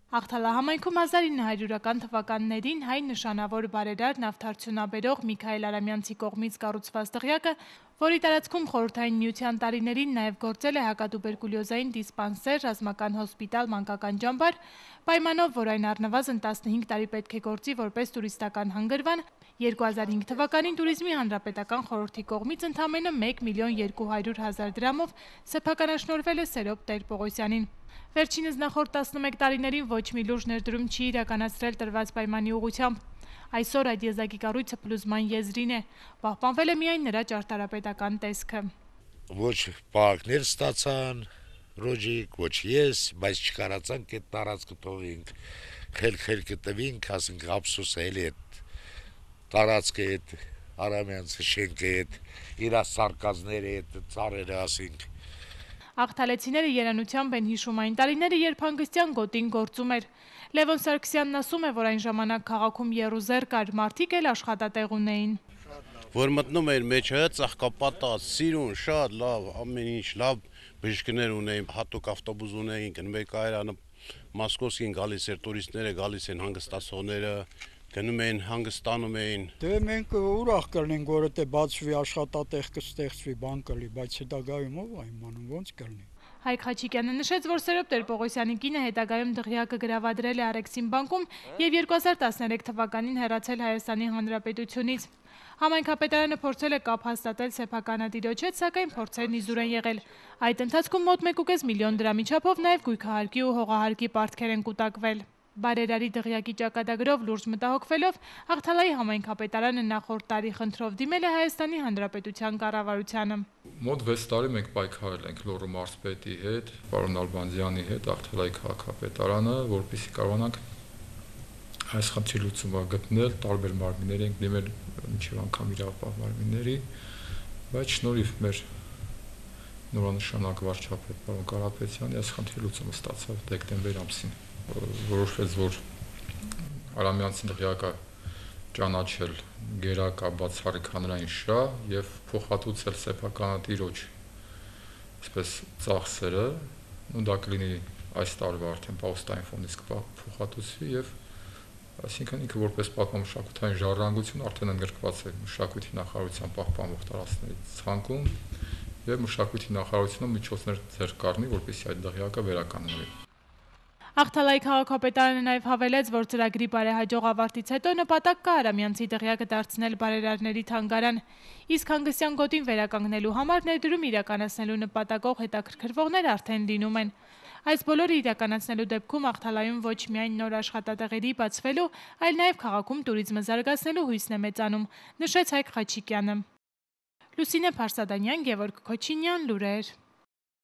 Աղթալա համայնքում 1900-ական թվականներին հայ նշանավոր բարերար նավթարդյունաբերող Միքայել Արամյանցի կողմից կառուցված դղյակը, որի տարածքում Խորհրդային Միության տարիներին նաև գործել է հակատուբերկուլյոզային դիսպանսեր, ռազմական հոսպիտալ, մանկական ճամբար, պայմանով, որ այն առնվազն 15 տարի պետք է գործի որպես տուրիստական հանգրվան, 2005 թվականին Տուրիզմի հանրապետական խորհրդի կողմից ընդամենը 1.200.000 դրամով սեփականաշնորհվել է Սերոբ Տեր-Պողոսյանին։ Վերջինս նախորդ 11 տարիներին ոչ մի լուրջ ներդրում չի իրականացրել տրված պայմանի ուղղությամբ։ Այսօր այդ եզակի կառույցը փլուզման եզրին է, պահպանվել է միայն նրա ճարտարապետական տեսքը։ Ոչ պահակներ ստացան, ռոջիկ, ոչ ես, բայց չկարացանք այդ տարածքը թողինք, խելքը տվինք, ասենք ափսոս է էլի այդ տարածքը, այդ Արամյանցի շենքը, այդ իր սարկազները, այդ ծառերը, ասենք։ Աղթալեցիները երանությամբ են հիշում այն տարիները, երբ հանգստյան գոտին գործում էր։ Լևոն Սարգսյանն ասում է, որ այն ժամանակ քաղաքում եռուզեռ կար, մարդիկ էլ աշխատատեղ ունեին։ Որ մտնում էր մեջը, ծաղկապատած, սիրուն, շատ լավ, ամեն ինչ լավ բժիշկներ ունեին, հատուկ ավտոբուս ունեին, գնում էր Կայարանը, Մոսկովսկին գալիս էր, տուրիստները գալիս են, հանգստացողները գնում էին, հանգստանում էին։ Դե մենք ուրախ կլինենք, որ եթե բացվի աշխատատեղ կստեղծվի, բան կլի, բայց հետագայում ով է իմանում, ոնց կլինի։ Հայկ Խաչիկյանը նշեց, որ Սերոբ Տեր-Պողոսյանի կինը հետագայում դղյակը գրավադրել է Արեքսին բանկում եւ 2013 թվականին հեռացել Հայաստանի Հանրապետությունից։ Համայնքապետարանը փորձել է կապ հաստատել սեփականատիրոջ հետ, սակայն փորձերն իզուր են եղել։ Այդ ընթացքում մոտ 1.5 միլիոն դրամի չափով նաև գույքահարկի ու հողահարկի պարտքեր են կուտակվել։ Բարերարի դղյակի ճակատագրով լուրջ մտահոգվելով Աղթալայի համայնքապետարանը նախորդ տարի խնդրով դիմել է Հայաստանի Հանրապետության կառավարությանը։ Մոտ 6 տարի մենք պայքարել ենք Լոռու մարզպետի հետ, պարոն Ալբանդյանի հետ, Աղթալայի քաղաքապետարանը, որպեսզի կարողանանք այս խնդրի լուծումը գտնել, տարբեր մարմիններ ենք դիմել, մինչև անգամ իրավապահ մարմինների, բայց շնորհիվ մեր նորանշանակ վարչապետ պարոն Կարապետյանի այս խնդրի լուծումը ստացավ դեկտեմբեր ամսին։ Որոշվեց, որ Արամյանցի դղյակը ճանաչել գերակա բացառիկ հանրային շահ եւ փոխհատուցել սեփականատիրոջ այսպես ծախսերը, ու դա կլինի այս տարվա արդեն պաուստային ֆոնդից կփոխհատուցվի եւ այսինքն ինքը որպես պատմամշակութային ժառանգություն արդեն ընդգրկված է մշակույթի նախարարության պահպանող տարածքների ցանկում եւ մշակույթի նախարարությունը միջոցներ ձեռք կառնի, որպեսզի այդ դղյակը վերականգնվի։ Աղթալայի քաղաքապետարանը նաև հավելեց, որ ծրագրի բարեհաջող ավարտից հետո նպատակ կա Արամյանցի դղյակը դարձնել բարերարների թանգարան, իսկ հանգստյան գոտին վերականգնելու համար ներդրում իրականացնելու նպատակով հետաքրքրվողներ արդեն լինում են։ Այս բոլորը իրականացնելու դեպքում Աղթալայում ոչ միայն նոր աշխատատեղերի բացվելու, այլ նաև քաղաքում տուրիզմը զարգացնելու հույսն է մեծանում, նշեց Հայկ Խաչիկյանը։ Լուսինե Փարսադանյան, Գևորգ Քոչինյան, լուրեր։